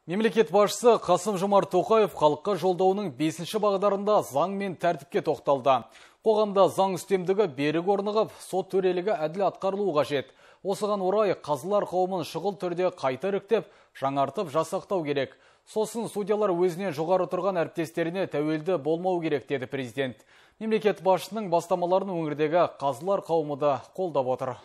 Мемлекет басшысы Қасым-Жомарт Тоқаев халыққа жолдауының 5-ші бағдарында заң мен тәртіпке тоқталды. Қоғамда заң үстемдігі берік орнығып, сот төрелігі әділ атқарылуы қажет. Осыған орай қазылар қауымын шұғыл түрде қайта іріктеп, жаңартып жасақтау керек. Сосын судьялар өзіне жоғары тұрған әріптестеріне тәуелді болмау керек, деді президент. Мемлекет басшысының бастамаларын өңірдегі қазылар қауымы да қолдап отыр.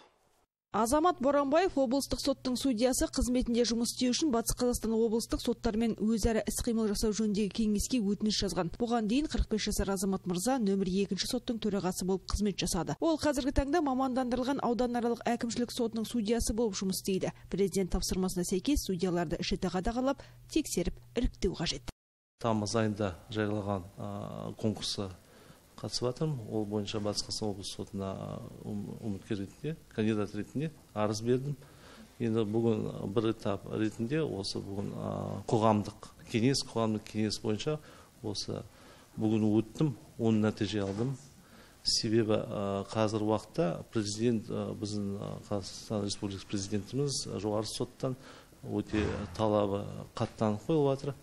Азамат Боранбаев облыстық соттың судьясы қызметінде жұмыс істеу үшін Батыс Қазақстан облыстық соттармен өзара іс-қимыл жасау жөніндегі кеңеске өтініш жазған. Бұған дейін 45 жасар Азамат мырза нөмір 2-ші соттың төрағасы болып қызмет жасады. Ол қазіргі таңда мамандандырылған ауданаралық әкімшілік сотының судьясы болып жұмыс істейді. Президент тапсырмасына сәйкес судьяларды ішіті қадағалап, тексеріп, іріктеу қажет. Тамыз айында жариялаған конкурсы қатысып жатырмын. Ол бойынша Батыс Қазақстан облысы сотына үміткер ретінде, кандидат ретінде арыз бердім. Енді бүгін бір этап ретінде осы бүгін қоғамдық кеңес бойынша осы бүгін өттім, оны нәтиже алдым. Себебі қазір уақытта президент, біздің Қазақстан Республикасы президентіміз жоғары соттан өте талабы қаттанып қойылып жатыр.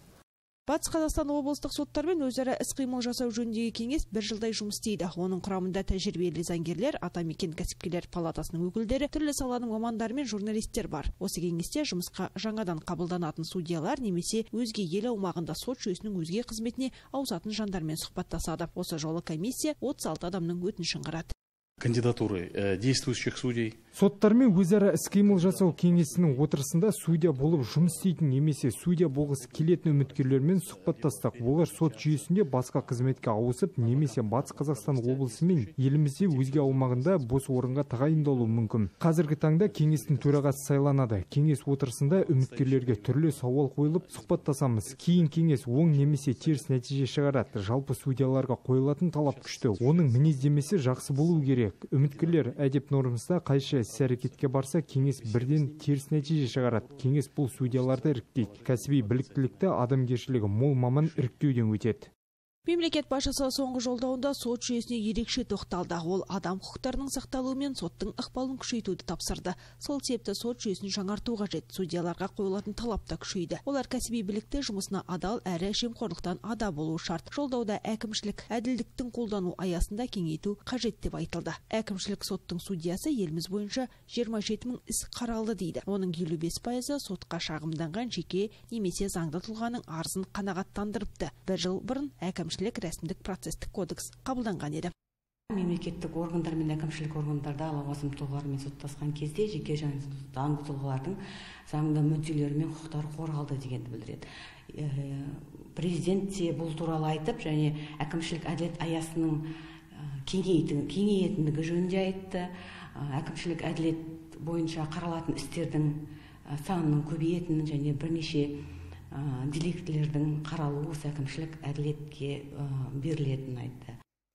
Батыс Қазақстан облыстық соттармен өзара іс-қимыл жасау жөніндегі кеңес бір жылдай жұмыс істейді. Оның құрамында тәжірибелі заңгерлер, атамекен кәсіпкерлер палатасының өкілдері, түрлі саланың мамандары мен журналистер бар. Осы кеңесте жұмысқа жаңадан қабылданатын судьялар немесе өзге ел аумағында сот жүйесінің өзге қызметіне ауысатын жандармен сұхбаттасады. Осы жолы комиссия 36 адамның өтінішін қарады. Кандидатуры действующих судей. Соттармен өзара іс-қимыл жасау кеңесінің отырысында судья болып жұмыс істейтін немесе судья болғысы келетін үміткерлермен сұхбаттастық. Олар сот жүйесінде басқа қызметке ауысып, немесе Батыс Қазақстан облысы мен елімізде өзге аумағында бос орынға тағайындалуы мүмкін. Қазіргі таңда кеңестің төрағасы сайланады. Кеңес отырысында үміткерлерге түрлі сауал қойылып сұхбаттасамыз. Кейін кеңес оң немесе теріс нәтиже шығарады. Жалпы судьяларға қойылатын талап күшті. Оның мінездемесі жақсы болу керек. Үміткерлер әдеп нормасында қайшы іс-әрекетке барса, кеңес бірден теріс нәтиже шығарады. Кеңес бұл судьяларды іріктейді. Кәсіби біліктілікті, адамгершілігі мол маман іріктеуден өтеді. Мемлекет басшысы соңғы жолдауында сот жүйесіне ерекше тоқталды. Ол адам құқықтарының сақталуы мен соттың ықпалын күшейтуді тапсырды. Сол себепті сот жүйесін жаңарту қажет. Судьяларға қойылатын талап та күшейді. Олар кәсіби білікті, жұмысына адал әрі жемқорлықтан ада болуы шарт. Жолдауда әкімшілік әділдіктің қолдану аясында кеңейту қажет деп айтылды. Әкімшілік соттың судьясы еліміз бойынша 27 мың іс қаралды дейді. Оның 55% сотқа шағымданған жеке немесе заңды тұлғаның арызын қанағаттандырыпты. Бір жыл бұрын әкімшілік рәсімдік процестік кодекс қабылданған еді. Мемлекеттік органдар мен әкімшілік органдарда лауазымды тұлғалармен соттасқан кезде жеке және заңды тұлғалардың заңды мүдделері мен құқықтары қорғалды дегенді білдіреді. Президент те бұл туралы айтып, және әкімшілік әділет аясының кеңейетіндігі жөнінде айтты. Әкімшілік әділет бойынша қаралатын істердің санының көбейетінін және бірнеше деликтілердің қаралуы осы әкімшілік әділетке берілетінін айтты.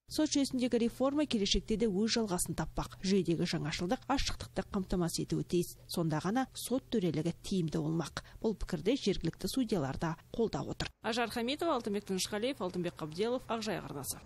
Сот жүйесіндегі реформа келешекте де өз жалғасын таппақ. Жүйедегі жаңашылдық ашықтықты қамтамасыз етуі тиіс. Сонда ғана сот төрелігі тиімді болмақ. Бұл пікірде жергілікті судьялар да қолдап отыр. Ажар Хамитова, Алтынбек Тынышқалиев, Алтынбек Қабделов, Ақжайық арнасы.